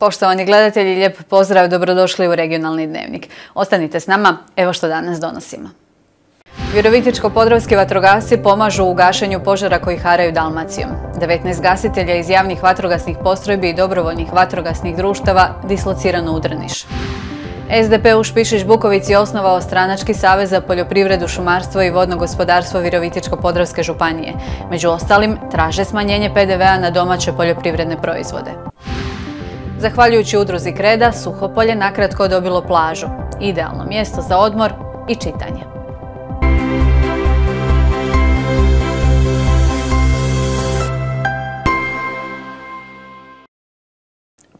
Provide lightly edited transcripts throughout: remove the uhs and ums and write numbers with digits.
Poštovani gledatelji, lijep pozdrav, dobrodošli u Regionalni dnevnik. Ostanite s nama, evo što danas donosimo. Virovitičko-podravski vatrogasci pomažu u gašenju požara koji haraju Dalmacijom. 19 gasitelja iz javnih vatrogasnih postrojbi i dobrovoljnih vatrogasnih društava dislocirano u Drniš. SDP u Špišić Bukovici osnovao stranački savez za poljoprivredu, šumarstvo i vodno gospodarstvo Virovitičko-podravske županije. Među ostalim, traže smanjenje PDV-a na domaće poljoprivredne proizvode. Zahvaljujući udruzi Kreda, Suhopolje nakratko dobilo plažu. Idealno mjesto za odmor i čitanje.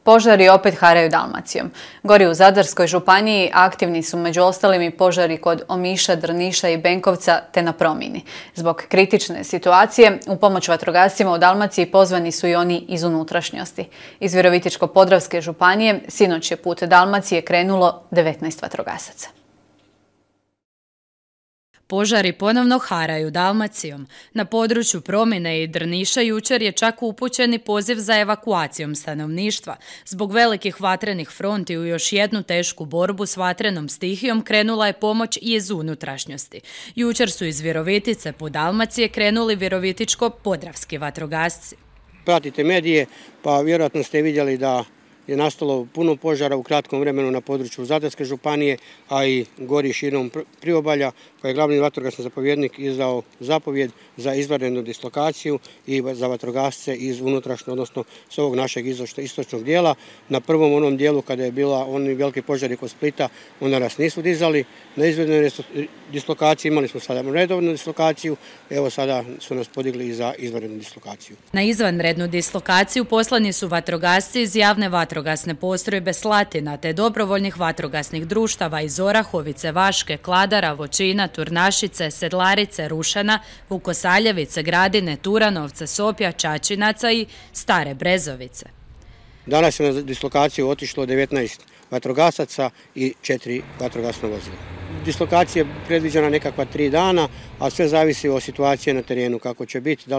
Požari opet haraju Dalmacijom. Gori u Zadarskoj županiji aktivni su među ostalim i požari kod Omiša, Drniša i Benkovca te na Promini. Zbog kritične situacije u pomoć vatrogascima u Dalmaciji pozvani su i oni iz unutrašnjosti. Iz Virovitičko-podravske županije sinoć je put Dalmacije krenulo 19 vatrogasaca. Požari ponovno haraju Dalmacijom. Na području Promine i Drniša jučer je čak upućen poziv za evakuacijom stanovništva. Zbog velikih vatrenih fronti u još jednu tešku borbu s vatrenom stihijom krenula je pomoć i iz unutrašnjosti. Jučer su iz Virovitice po Dalmacije krenuli Virovitičko-podravski vatrogasci. Pratite medije, pa vjerojatno ste vidjeli da je nastalo puno požara u kratkom vremenu na području Zadarske županije, a i gori širom priobalja, pa je glavni vatrogasni zapovjednik izdao zapovjed za izvanrednu dislokaciju i za vatrogasce iz unutrašnje, odnosno s ovog našeg istočnog dijela. Na prvom onom dijelu kada je bila oni veliki požari kod Splita, onda nas nisu dizali na izvanrednu dislokaciju, imali smo sada redovnu dislokaciju, evo sada su nas podigli i za izvanrednu dislokaciju. Na izvanrednu dislokaciju poslani su vatrogasci iz javne vatrogasne postrojbe Slatina te dobrovoljnih vatrogasnih društava iz Orahovice, Vaške, Kladara, Vočina, Turnašice, Sedlarice, Rušana, Vukosaljevice, Gradine, Turanovce, Sopja, Čačinaca i Stare Brezovice. Danas je na dislokaciju otišlo 19 vatrogasaca i 4 vatrogasna vozila. Dislokacija je predviđena nekakva 3 dana, a sve zavisi od situacije na terenu, kako će biti, da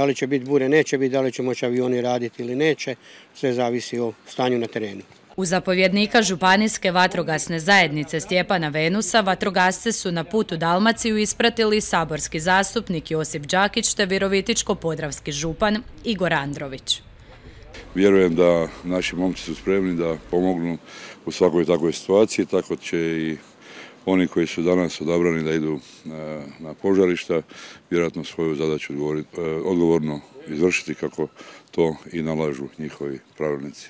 li će biti bure, neće biti, da li će moći avioni raditi ili neće, sve zavisi o stanju na terenu. U zapovjednika Županijske vatrogasne zajednice Stjepana Venusa vatrogasce su na putu Dalmaciju ispratili saborski zastupnik Josip Đakić te Virovitičko-podravski župan Igor Andrović. Vjerujem da naši momci su spremni da pomognu u svakoj takvoj situaciji, tako će i oni koji su danas odabrani da idu na požarišta, vjerojatno svoju zadaću odgovorno izvršiti kako to i nalažu njihovi pravilnici.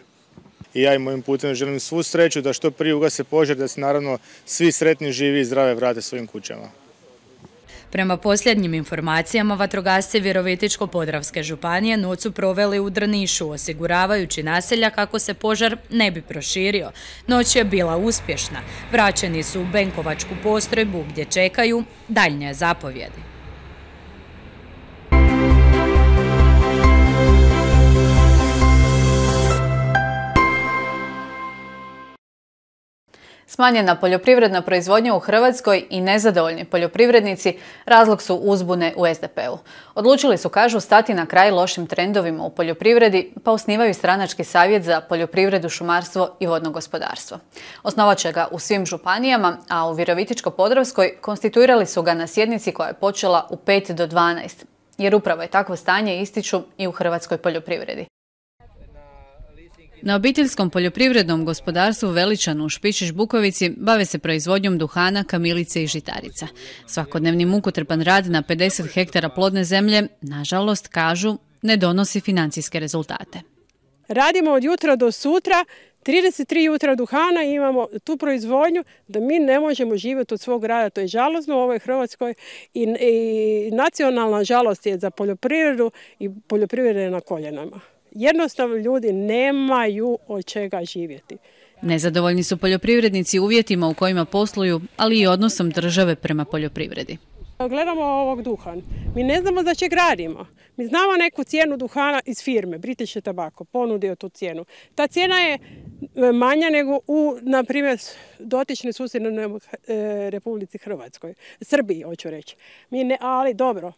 I ja im ovim putem želim svu sreću da što prije ugase požar, da se naravno svi sretni, živi i zdrave vrate svojim kućama. Prema posljednjim informacijama, vatrogasci Virovitičko-podravske županije noć su proveli u Drnišu, osiguravajući naselja kako se požar ne bi proširio. Noć je bila uspješna. Vraćeni su u Benkovačku postrojbu gdje čekaju daljnje zapovjedi. Smanjena poljoprivredna proizvodnja u Hrvatskoj i nezadovoljni poljoprivrednici razlog su uzbune u SDP-u. Odlučili su, kažu, stati na kraj lošim trendovima u poljoprivredi, pa osnivaju stranački savjet za poljoprivredu, šumarstvo i vodno gospodarstvo. Osnovat će ga u svim županijama, a u Virovitičko-podravskoj konstituirali su ga na sjednici koja je počela u 5 do 12, jer upravo je takvo stanje ističu i u hrvatskoj poljoprivredi. Na obiteljskom poljoprivrednom gospodarstvu Veličanu u Špišić Bukovici bave se proizvodnjom duhana, kamilice i žitarica. Svakodnevni mukotrpan rad na 50 hektara plodne zemlje, nažalost, kažu, ne donosi financijske rezultate. Radimo od jutra do sutra, 33 jutra duhana i imamo tu proizvodnju da mi ne možemo živjeti od svog rada. To je žalosno u ovoj Hrvatskoj i nacionalna žalost je za poljoprivredu i poljoprivreda je na koljenama. Jednostavno ljudi nemaju od čega živjeti. Nezadovoljni su poljoprivrednici uvjetima u kojima posluju, ali i odnosom države prema poljoprivredi. Gledamo ovog duhan. Mi ne znamo za čeg radimo. Mi znamo neku cijenu duhana iz firme, British Tobacco, ponudio tu cijenu. Ta cijena je manja nego u, na primjer, dotičnoj susjednoj Republici Hrvatskoj. Srbiji, hoću reći. Ali dobro.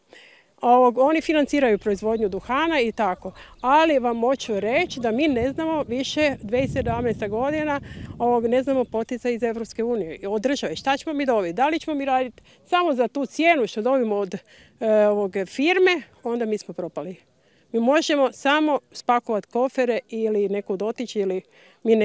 Oni financiraju proizvodnju duhana i tako. Ali vam hoću reći da mi ne znamo više 2017. godina ne znamo poticaj iz Evropske unije, od države. Šta ćemo mi dobiti? Da li ćemo mi raditi samo za tu cijenu što dobimo od firme, onda mi smo propali. Mi možemo samo spakovati kofere ili nekud otići ili mi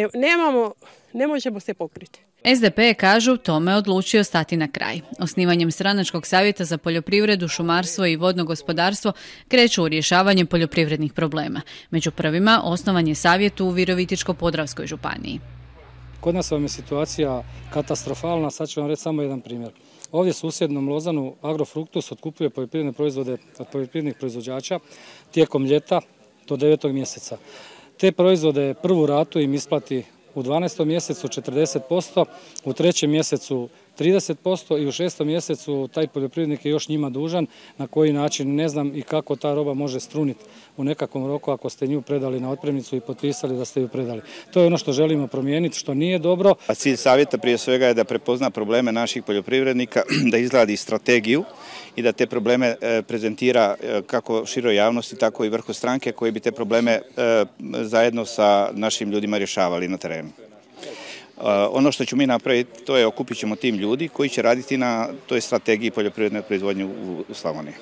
ne možemo se pokriti. SDP je, kažu, tome odlučio stati na kraj. Osnivanjem stranačkog savjeta za poljoprivredu, šumarstvo i vodno gospodarstvo kreću u rješavanje poljoprivrednih problema. Među prvima osnovan je savjet u Virovitičko-podravskoj županiji. Kod nas vam je situacija katastrofalna, sad ću vam reći samo jedan primjer. Ovdje susjednom Lozanu Agrofruktus otkupuje poljoprivredne proizvode od poljoprivrednih proizvođača tijekom ljeta do 9. mjeseca. Te proizvode prvu ratu im isplati u 12. mjesecu 40%, u 3. mjesecu 30% i u 6. mjesecu taj poljoprivrednik je još njima dužan, na koji način ne znam i kako ta roba može struniti u nekakvom roku ako ste nju predali na otpremnicu i potpisali da ste ju predali. To je ono što želimo promijeniti, što nije dobro. A cilj savjeta prije svega je da prepozna probleme naših poljoprivrednika, da izradi strategiju i da te probleme prezentira kako široj javnosti, tako i vrhu stranke koji bi te probleme zajedno sa našim ljudima rješavali na terenu. Ono što ćemo mi napraviti, to je okupit ćemo tim ljudi koji će raditi na toj strategiji poljoprivredne proizvodnje u Slavoniji.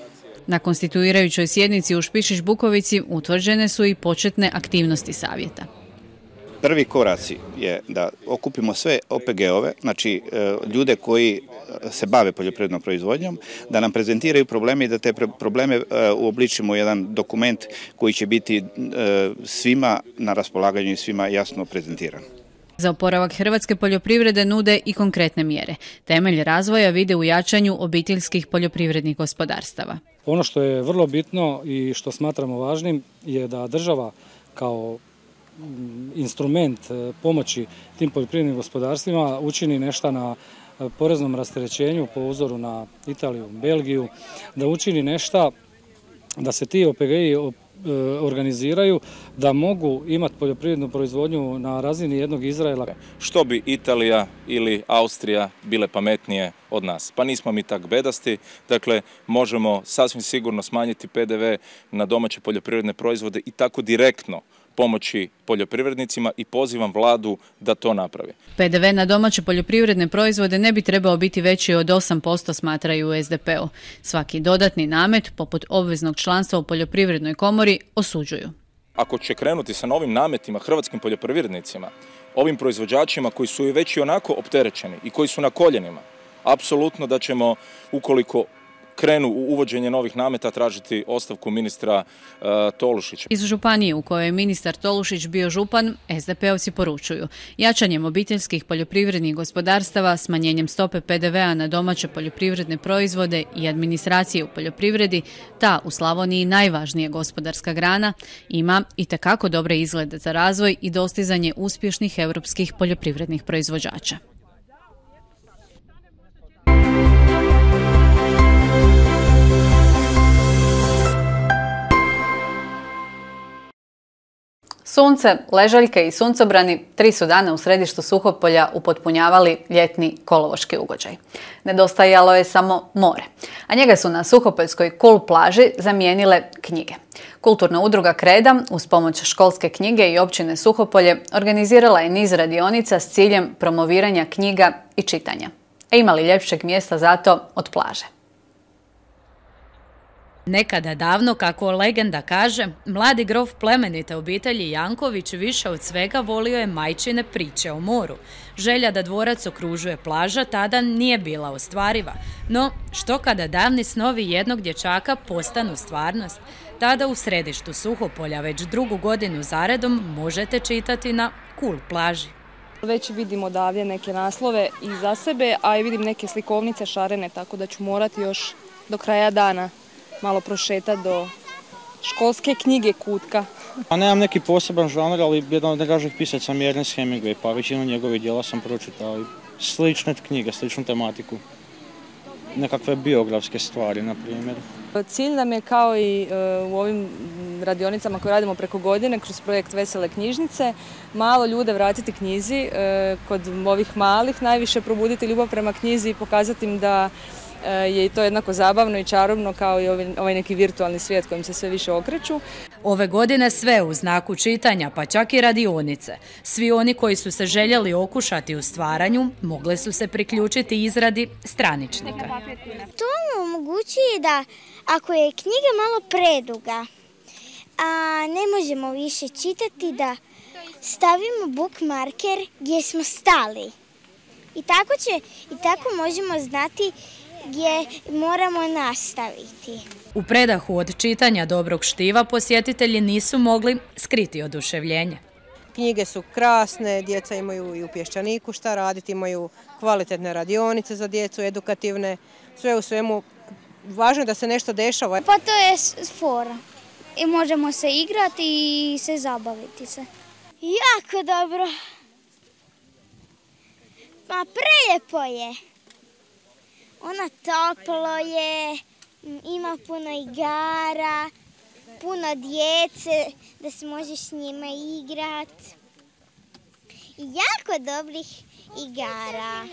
Na konstituirajućoj sjednici u Špišić Bukovici utvrđene su i početne aktivnosti savjeta. Prvi koraci je da okupimo sve OPG-ove, znači ljude koji se bave poljoprivrednom proizvodnjom, da nam prezentiraju probleme i da te probleme uobličimo u jedan dokument koji će biti svima na raspolaganju i svima jasno prezentiran. Za oporavak hrvatske poljoprivrede nude i konkretne mjere. Temelj razvoja vide u jačanju obiteljskih poljoprivrednih gospodarstava. Ono što je vrlo bitno i što smatramo važnim je da država kao instrument pomoći tim poljoprivrednim gospodarstvima učini nešto na poreznom rasterećenju po uzoru na Italiju, Belgiju, da učini nešto da se ti OPG-i organiziraju, da mogu imati poljoprivrednu proizvodnju na razini jednog Izraela. Što bi Italija ili Austrija bile pametnije od nas? Pa nismo mi tak bedasti, dakle možemo sasvim sigurno smanjiti PDV na domaće poljoprivredne proizvode i tako direktno pomoći poljoprivrednicima i pozivam vladu da to napravi. PDV na domaće poljoprivredne proizvode ne bi trebao biti veći od 8%, smatraju u SDP-u. Svaki dodatni namet, poput obveznog članstva u poljoprivrednoj komori, osuđuju. Ako će krenuti sa novim nametima hrvatskim poljoprivrednicima, ovim proizvođačima koji su već i onako opterećeni i koji su na koljenima, apsolutno da ćemo, ukoliko krenu u uvođenje novih nameta, tražiti ostavku ministra Tolušića. Iz županije u kojoj je ministar Tolušić bio župan, SDP-ovci poručuju jačanjem obiteljskih poljoprivrednih gospodarstava, smanjenjem stope PDV-a na domaće poljoprivredne proizvode i administracije u poljoprivredi, ta u Slavoniji najvažnija gospodarska grana, ima itekako dobre izglede za razvoj i dostizanje uspješnih europskih poljoprivrednih proizvođača. Sunce, ležaljke i suncobrani 3 su dana u središtu Suhopolja upotpunjavali ljetni kolovoški ugođaj. Nedostajalo je samo more, a njega su na Suhopoljskoj Kul plaži zamijenile knjige. Kulturna udruga Kreda uz pomoć školske knjige i općine Suhopolje organizirala je niz radionica s ciljem promoviranja knjiga i čitanja. A ima li ljepšeg mjesta za to od plaže? Nekada davno, kako legenda kaže, mladi grof plemenite obitelji Janković više od svega volio je majčine priče o moru. Želja da dvorac okružuje plaža tada nije bila ostvariva. No, što kada davni snovi jednog dječaka postanu stvarnost? Tada u središtu Suhopolja već 2. godinu zaredom možete čitati na Kul plaži. Već vidim odavdje neke naslove i za sebe, a i vidim neke slikovnice šarene, tako da ću morati još do kraja dana malo prošetati do školske knjige kutka. Nemam neki poseban žanr, ali jedan od najdražih pisaca mi je Ernest Hemingway, pa većinu njegovih djela sam pročitao. Slične knjige, sličnu tematiku. Nekakve biografske stvari, na primjer. Cilj nam je, kao i u ovim radionicama koje radimo preko godine, kroz projekt Vesele knjižnice, malo ljude vratiti knjizi, kod ovih malih najviše probuditi ljubav prema knjizi i pokazati im da je i to jednako zabavno i čarobno kao i ovaj neki virtualni svijet kojim se sve više okreću. Ove godine sve u znaku čitanja, pa čak i radionice. Svi oni koji su se željeli okušati u stvaranju, mogli su se priključiti izradi straničnika. To omogućuje da ako je knjiga malo preduga, a ne možemo više čitati, da stavimo bookmarker gdje smo stali. I tako možemo znati gdje moramo nastaviti. U predahu od čitanja dobrog štiva posjetitelji nisu mogli skriti oduševljenje. Knjige su krasne, djeca imaju i u Pješčaniku šta raditi, imaju kvalitetne radionice za djecu, edukativne, sve u svemu. Važno je da se nešto dešava. Pa to je fora. I možemo se igrati i se zabaviti se. Jako dobro. Ma prelijepo je. Ono toplo je, ima puno igara, puno djece da se možeš s njima igrati. I jako dobrih igara.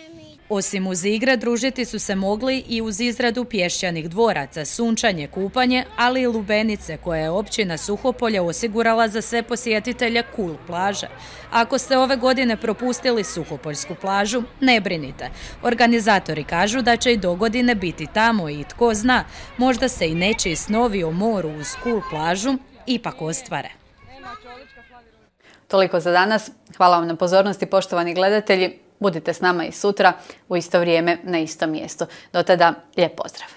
Osim uz igre, družiti su se mogli i uz izradu pješčanih dvoraca, sunčanje, kupanje, ali i lubenice koje je općina Suhopolje osigurala za sve posjetitelje Cool plaže. Ako ste ove godine propustili Suhopoljsku plažu, ne brinite. Organizatori kažu da će i dogodine biti tamo i tko zna, možda se i nečiji snovi o moru uz Cool plažu ipak ostvare. Toliko za danas. Hvala vam na pozornosti, poštovani gledatelji. Budite s nama i sutra u isto vrijeme na istom mjestu. Do tada, lijep pozdrav!